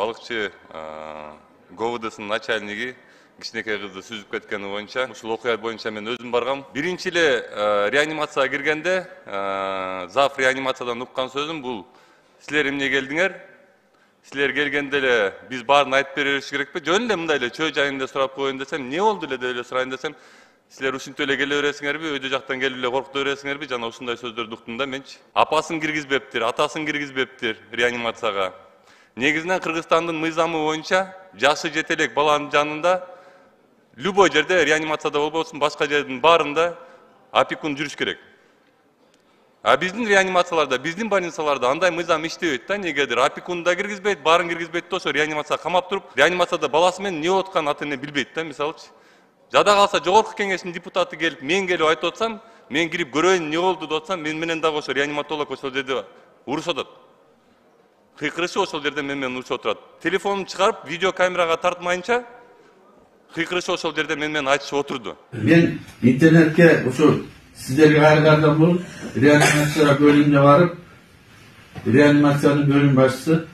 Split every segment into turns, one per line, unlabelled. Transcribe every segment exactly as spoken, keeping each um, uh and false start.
балыкчы ГОВДсынын начальниги кичинекей кызды сүзүп кеткени боюнча ушул окуя боюнча мен өзүм баргам. Биринчи эле реанимацияга киргенде зав реанимациядан уккан сөзүм бул: силер эмне келдиңер? Силер келгенде эле биз баарын айтып бериш керекпи? Жөн эле мындай эле чөө жайында сурап коеюн десем, эмне болду эле деп эле сурайын десем, силер ушинтип эле келе бересиңерби, өйдө жактан келип эле коркута бересиңерби? Жана ушундай сөздөрдү уктум да менчи. Апасын киргизбептир, атасын киргизбептир реанимацияга. Негизинен Кыргызстандын мыйзамы боюнча жашы жете элек баланын жанында любой жерде, реанимацияда болбосун, башка жердин баарында опекун жүрүш керек. А биздин реанимацияларда, биздин больницаларда андай мыйзам иштебейт да, негедир. Опекун да киргизбейт, баарын киргизбейт да, ошо реанимацияга камап туруп, реанимацияда баласы менен эмне болуп атканын ата эне билбейт да, мисалычы. Жада калса жогорку кеңештин депутаты келип, мен келип айтып атсам, мен кирип көрөйүн эмне болду деп атсам, мен менен дагы ошо реаниматолог ошол жерде урушуп атат. Кыйкырышы ошол жерде мен менен урушуп отурат. Телефонун чыгарып, видео камерага тартмайынча кыйкырышы ошол жерде мен менен айтышып отурду.
Мен интернетке ошо сиздерге кайрадан бул реанимация бөлүмүнө барып, реанимациянын бөлүм башчысы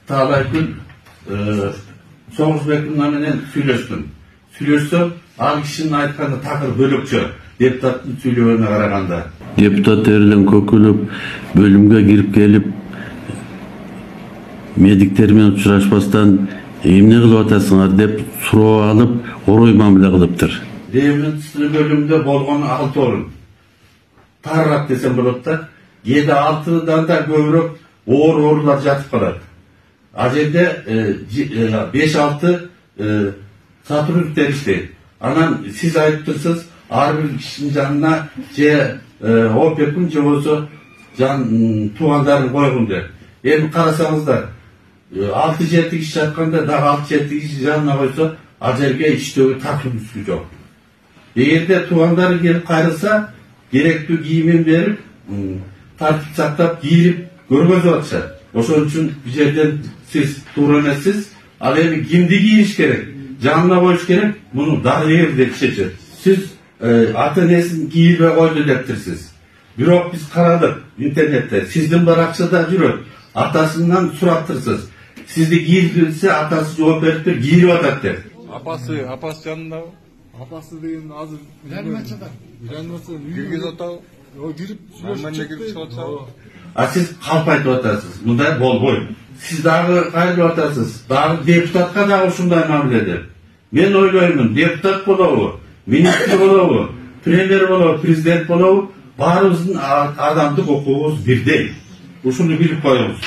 Таалай күн Соңузбек менен сүйлөштүм. Сүйлөшсөм, ал кишинин айтканы такыр бөлөкчө, депутаттын сүйлөгөнүнө караганда.
Депутат эрден көкүлүп, бөлүмгө кирип келип, медиктер менен учурашпастан эмне кылып атасыңар деп суроо алып, орой мамиле кылыптыр.
Реанимация бөлүмүндө болгону алты орун. Тарап десем болот да, кээде алтыдан да көбүрөөк оор оорулар жатып калат. А жерде беш алты сотрудниктер иштейт. Анан сиз айтыптырсыз, ар бир кишинин жанына же опекун же болбосо жан туугандарын койгун деп. Эми карасаңыздар, алты жети киши жатканда дагы алты жети киши жанына койсо, ал жерге иштөөгө такырдуу жок. Эгерде туугандары келип кайрылса, керектүү кийимин берип, тартип сактап, кийирип көргөзүп атышат. Ошон үчүн бул жерден сиз туура эмессиз. Ал эми кимди кийиш керек, жанына коюш керек, муну дарыгер деп чечет. Сиз ата энесин кийилбей койду дептирсиз. Бирок биз карадык интернетте, сиздин баракчада жүрөт. Атасынан сураптырсыз. Сизди кийилсе, атасы жооп бериптир, кийирип атат деп.
Апасы, апасы жанындабы?
Апасы деген азыр реанимацияда. Реанимацияда
киргизип атабы?
О, кирип сүйлөшүп.
А сиз калп айтып атасыз. Мындай болбойт. Сиз дагы кайрылып атасыз. Дагы депутатка дагы ушундай мамиле деп. Мен ойлоймун, депутат болобу, министр болобу, премьер болобу, президент болобу, баарыбыздын адамдык укугубуз бирдей. Ушуну билип коюңуз.